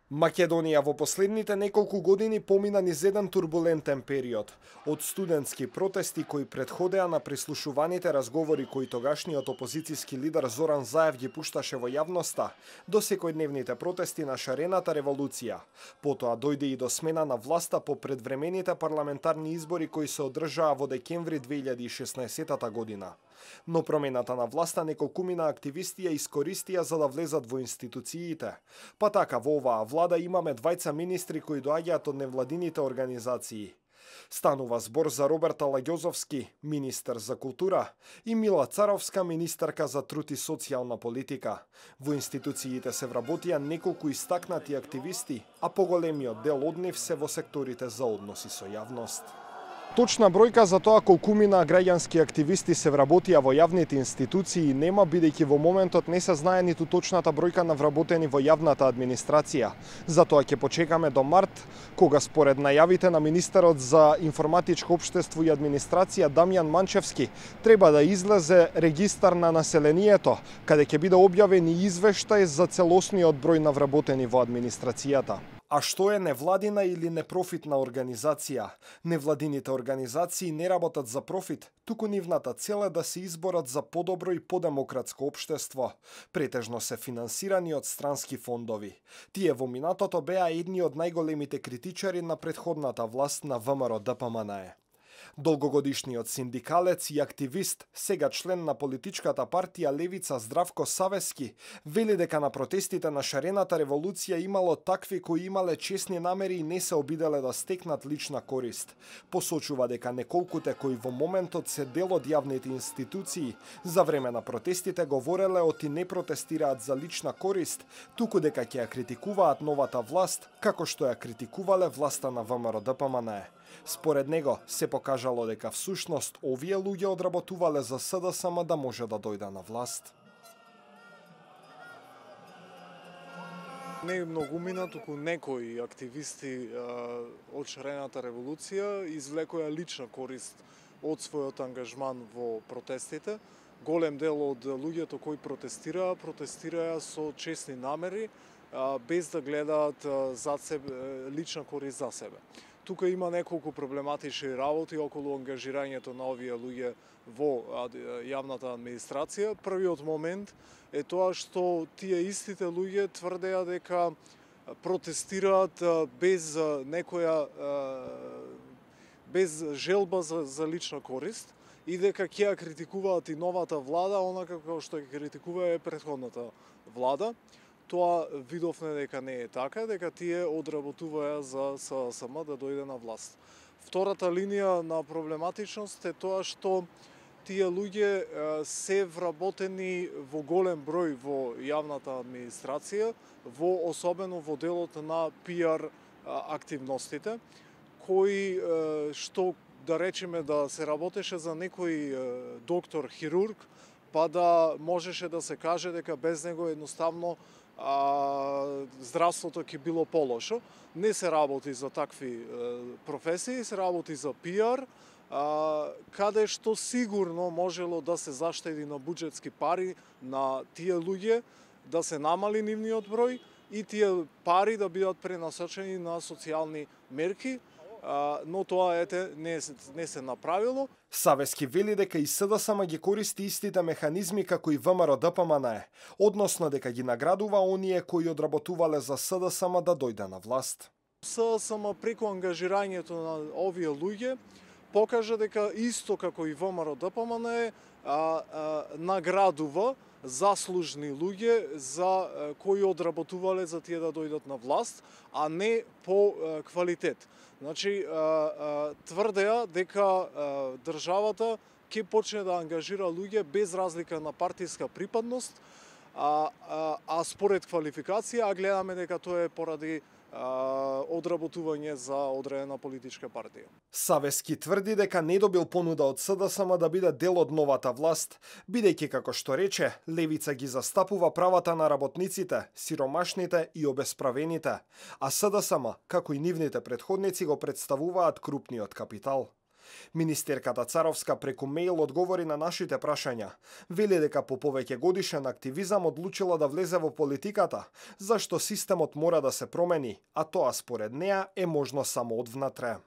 Македонија во последните неколку години помина низ еден турбулентен период. Од студентски протести кои претходеа на прислушуваните разговори кои тогашниот опозицијски лидер Зоран Заев ги пушташе во јавноста, до секојдневните протести на шарената револуција. Потоа дојде и до смена на власта по предвремените парламентарни избори кои се одржаа во декември 2016 година. Но промената на власта неколкумина активисти ја искористија за да влезат во институциите. Па така во оваа влада имаме двајца министри кои доаѓаат од невладините организации. Станува збор за Роберт Алагјозовски, министер за култура, и Мила Царовска, министерка за труд и социјална политика. Во институциите се вработија неколку истакнати активисти, а поголемиот дел од нив се во секторите за односи со јавност. Точна бројка за тоа колкумина граѓански активисти се вработија во јавните институции нема, бидејќи во моментот не се знае ниту точната бројка на вработени во јавната администрација. Затоа ќе почекаме до март, кога според најавите на министерот за информатичко општество и администрација Дамјан Манчевски треба да излезе регистар на населението, каде ќе биде објавен и извештај за целосниот број на вработени во администрацијата. А што е невладина или непрофитна организација? Невладините организации не работат за профит, туку нивната цел е да се изборат за подобро и подемократско општество. Претежно се финансирани од странски фондови. Тие во минатото беа едни од најголемите критичари на претходната власт на ВМРО-ДПМНЕ. Долгогодишниот синдикалец и активист, сега член на политичката партија Левица Здравко Савески, вели дека на протестите на шарената револуција имало такви кои имале честни намери и не се обиделе да стекнат лична корист. Посочува дека неколкуте кои во моментот се дел од јавните институции, за време на протестите говореле оти не протестираат за лична корист, туку дека ќе ја критикуваат новата власт, како што ја критикувале власта на ВМРО-ДПМНЕ. Според него се покажало дека всушност овие луѓе одработувале за СДСМ да може да дојде на власт. Не многумина, туку некои активисти од шарената револуција извлекоја лична корист од својот ангажман во протестите. Голем дел од луѓето кои протестираа со честни намери, без да гледаат зад себе лична корист за себе. Тука има неколку проблематични работи околу ангажирањето на овие луѓе во јавната администрација. Првиот момент е тоа што тие истите луѓе тврдеа дека протестираат без желба за лична корист и дека ќе ја критикуваат и новата влада, онака како што ја критикува претходната влада. Тоа видовме дека не е така, дека тие одработуваа за СДСМ да дојде на власт. Втората линија на проблематичност е тоа што тие луѓе се вработени во голем број во јавната администрација, особено во делот на PR активностите, кои што да речеме да се работеше за некој доктор хирург, па да можеше да се каже дека без него едноставно здравството ќе било полошо. Не се работи за такви професии, се работи за PR, каде што сигурно можело да се заштеди на буџетски пари на тие луѓе, да се намали нивниот број и тие пари да бидат пренасочени на социјални мерки, но тоа не се направило. Савески вели дека и СДСМ ги користи истите механизми како и ВМРО-ДПМНЕ, односно дека ги наградува оние кои одработувале за СДСМ да дојде на власт. СДСМ преку ангажирањето на овие луѓе покажа дека исто како и ВМРО-ДПМНЕ наградува заслужни луѓе за кои одработувале за тие да дојдат на власт, а не по квалитет. Значи, тврдеа дека државата ќе почне да ангажира луѓе без разлика на партиска припадност, а според квалификација, а гледаме дека тоа е поради одработување за одредена политичка партија. Савески тврди дека не добил понуда од СДСМ да биде дел од новата власт, бидејќи како што рече, Левица ги застапува правата на работниците, сиромашните и обесправените, а СДСМ, како и нивните претходници, го представуваат крупниот капитал. Министерката Царовска преку мејл одговори на нашите прашања. Вели дека по повеќе годишен активизам одлучила да влезе во политиката, зашто системот мора да се промени, а тоа според неа е можно само одвнатре.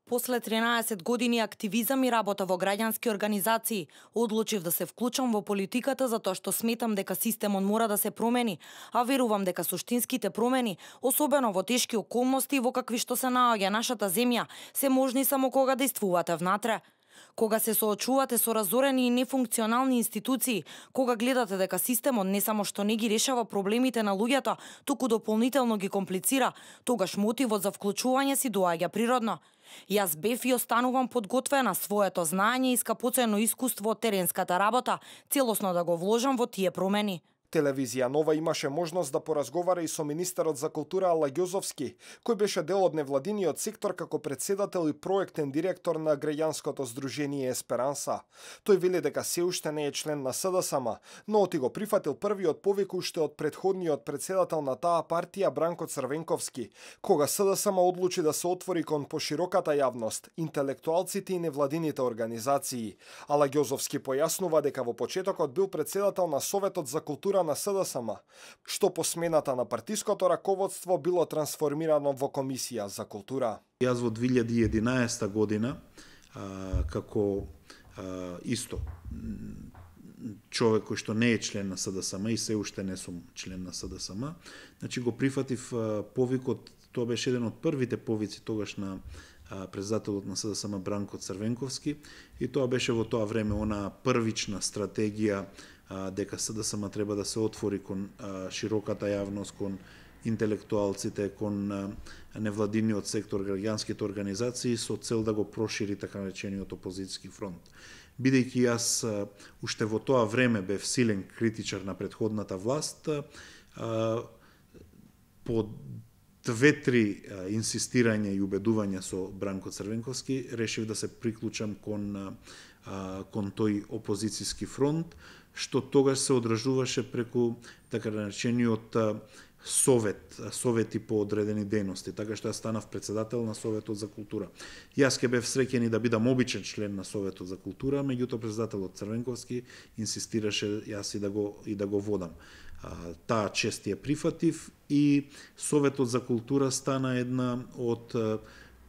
После 13 години активизам и работа во граѓански организации, одлучив да се вклучам во политиката затоа што сметам дека системот мора да се промени, а верувам дека суштинските промени, особено во тешки околности во какви што се наоѓа нашата земја, се можни само кога действувате внатре. Кога се соочувате со разорени и нефункционални институции, кога гледате дека системот не само што не ги решава проблемите на луѓето, туку дополнително ги комплицира, тогаш мотивот за вклучување си доаѓа природно. Јас бев и останувам подготвена своето знаење и скапоцено искуство од теренската работа, целосно да го вложам во тие промени. Телевизија Нова имаше можност да поразговара и со министерот за култура Ала Ѓозовски, кој беше дел од невладиниот сектор како председател и проектен директор на граѓанското здружение Есперанса. Тој вели дека се уште не е член на СДСМ, но оти го прифатил првиот повик уште од предходниот председател на таа партија Бранко Црвенковски, кога СДСМ одлучи да се отвори кон пошироката јавност, интелектуалците и невладините организации. Ала Ѓозовски појаснува дека во почетокот бил председател на Советот за култура на СДСМ, што по смената на партиското раководство било трансформирано во Комисија за култура. Јас во 2011 година, како исто човек кој што не е член на СДСМ и се уште не сум член на СДСМ, значи го прифатив повикот, тоа беше еден од првите повици тогаш на председателот на СДСМ Бранко Црвенковски, и тоа беше во тоа време она првична стратегија дека СДСМ треба да се отвори кон широката јавност, кон интелектуалците, кон невладиниот сектор, граѓанските организации, со цел да го прошири така наречениот опозицијски фронт. Бидејќи јас уште во тоа време бев силен критичар на претходната власт, по 2-3 инсистирање и убедувања со Бранко Црвенковски, решив да се приклучам кон тој опозицијски фронт, што тогаш се одржуваше преку така наречениот совети по одредени дејности, така што јас станав председател на Советот за култура. Јас ке бев среќен и да бидам обичен член на Советот за култура, меѓутоа председателот Црвенковски инсистираше јас и да го водам. Таа чест ја прифатив и Советот за култура стана една од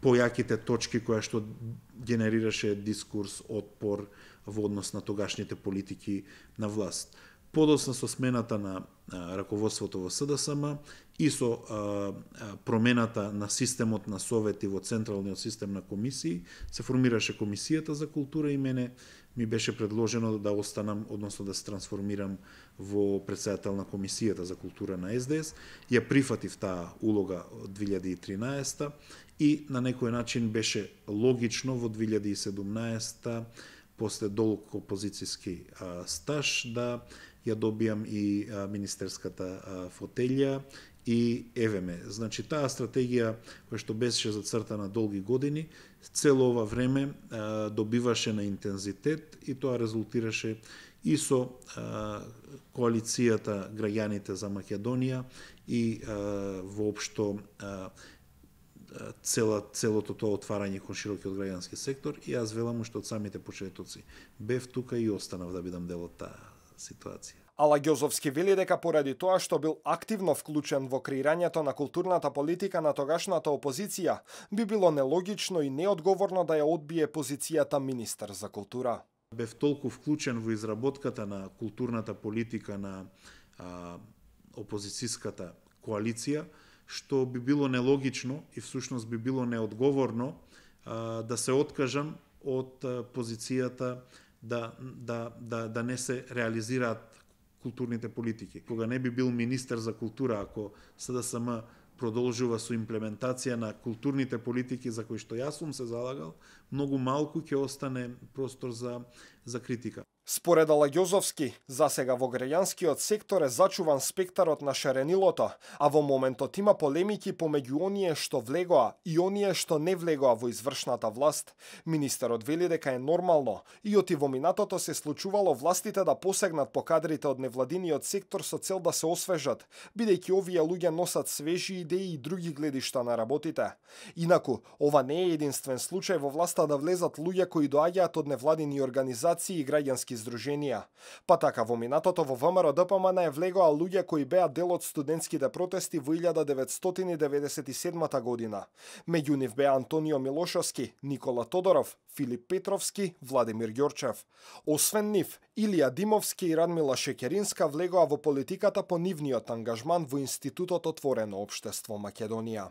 појаките точки која што генерираше дискурс, отпор во однос на тогашните политики на власт. Подоцна со смената на раководството во СДСМ и со промената на системот на совети во централниот систем на комисии, се формираше Комисијата за култура и мене ми беше предложено да останам, односно да се трансформирам во председател на Комисијата за култура на СДС. Ја прифатив таа улога од 2013 и на некој начин беше логично во 2017 после долг опозицијски стаж да ја добијам и министерската фотелја и евеме. Значи таа стратегија која што беше зацртана долги години, цело ова време добиваше на интензитет и тоа резултираше и со коалицијата Граѓаните за Македонија и воопшто целото тоа отварање кон широкиот граѓански сектор, и јас велам уште од самите почетоци бев тука и останав да бидам дел од таа ситуација. Ала Ѓозовски вели дека поради тоа што бил активно вклучен во креирањето на културната политика на тогашната опозиција, би било нелогично и неодговорно да ја одбие позицијата министер за култура. Бев толку вклучен во изработката на културната политика на опозицијската коалиција, што би било нелогично и всушност би било неодговорно да се откажам од позицијата да не се реализираат културните политики. Кога не би бил министер за култура, ако СДСМ продолжува со имплементација на културните политики за кои што јас сум се залагал, многу малку ќе остане простор за критика. Според Алагјозовски, засега во граѓанскиот сектор е зачуван спектарот на шаренилото, а во моментот има полемики помеѓу оние што влегоа и оние што не влегоа во извршната власт. Министерот вели дека е нормално и оти во минатото се случувало властите да посегнат по кадрите од невладиниот сектор со цел да се освежат, бидејќи овие луѓе носат свежи идеи и други гледишта на работите. Инаку, ова не е единствен случај во власта да влезат луѓе кои доаѓаат од невладини организации и граѓански здруженија. Па така во минатото во ВМРО ДПМН е влегоа луѓе кои беа дел од студентските протести во 1997 година. Меѓу нив беа Антонио Милошовски, Никола Тодоров, Филип Петровски, Владимир Ѓорчев. Освен нив, Илија Димовски и Радмила Шекеринска влегоа во политиката по нивниот ангажман во Институтот Отворено општество Македонија.